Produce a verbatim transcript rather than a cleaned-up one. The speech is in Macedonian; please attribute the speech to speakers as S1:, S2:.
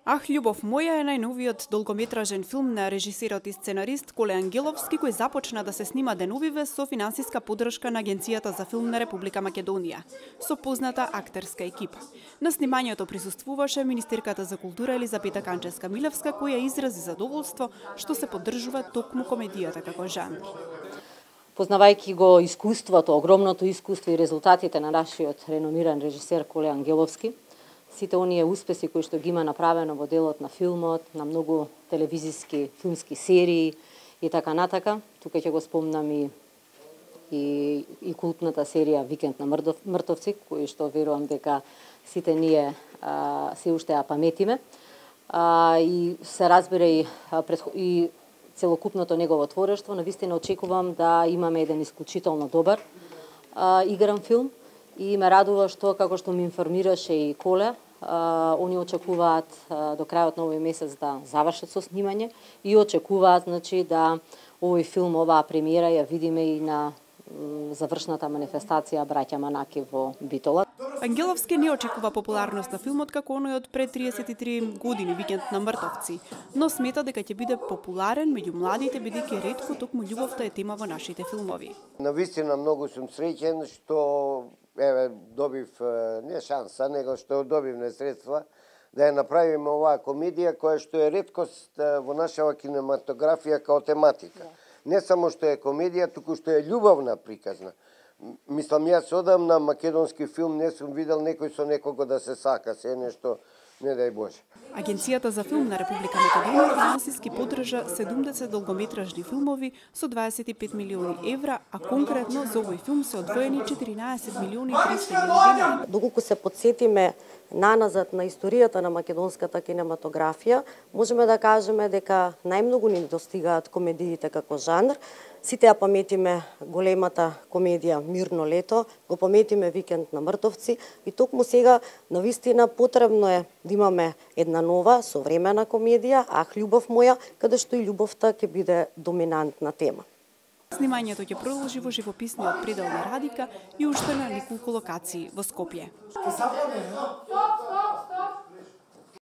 S1: Ах, љубов моја е најновиот долгометражен филм на режисерот и сценарист Коле Ангеловски, кој започна да се снима деновиве со финансиска поддршка на Агенцијата за филм на Република Македонија, со позната актерска екипа. На снимањето присуствуваше министерката за култура Елизапета Канчевска-Милевска, која изрази задоволство што се поддржува токму комедијата како жанр.
S2: Познавајќи го искуството, огромното искуство и резултатите на нашиот реномиран режисер Коле Ангеловски, сите оние успеси кои што ги има направено во делот на филмот, на многу телевизиски филмски серии и така натака. Тука ќе го спомнам и и, и култната серија Викенд на мртовци, кои што верувам дека сите ние а, се уште ја паметиме. А, и се разбира и, и целокупното негово творештво. Навистина очекувам да имаме еден исклучително добар а, игран филм. И ме радува што, како што ми информираше и Коле, а, они очекуваат а, до крајот на овој месец да завршат со снимање и очекуваат, значи, да овој филм, оваа премиера ја видиме и на завршната манифестација Браќа Манаки во Битола.
S1: Ангеловски не очекува популарност на филмот како оној од пред триесет и три години Викенд на мртовци, но смета дека ќе биде популарен меѓу младите, бидејќи ретко токму љубовта е тема во нашите филмови.
S3: Навистина многу сум среќен што еве добив не шанса, него што добивме средства да ја направиме оваа комедија која што е реткост во нашава кинематографија као тематика. Не само што е комедија, туку што е љубовна приказна. Мислам, јас одамна македонски филм не сум видел некој со некого да се сака, се нешто, не дај Боже.
S1: Агенцијата за филм на Република Македонија финансиски поддржа седумдесет долгометражни филмови со дваесет и пет милиони евра, а конкретно за овој филм се одвоени четиринаесет милиони и триста илјади денари.
S4: Доколку се потсетиме наназад на историјата на македонската кинематографија, можеме да кажеме дека најмногу ни достигаат комедиите како жанр. Сите ја паметиме големата комедија Мирно лето, го паметиме Викенд на мртовци и токму сега навистина потребно е да имаме една нова современа комедија, Ах, љубов моја, каде што и љубовта ќе биде доминантна тема.
S1: Снимањето ќе продолжи во живописниот предел на Радика и уште на неколку локации во Скопје.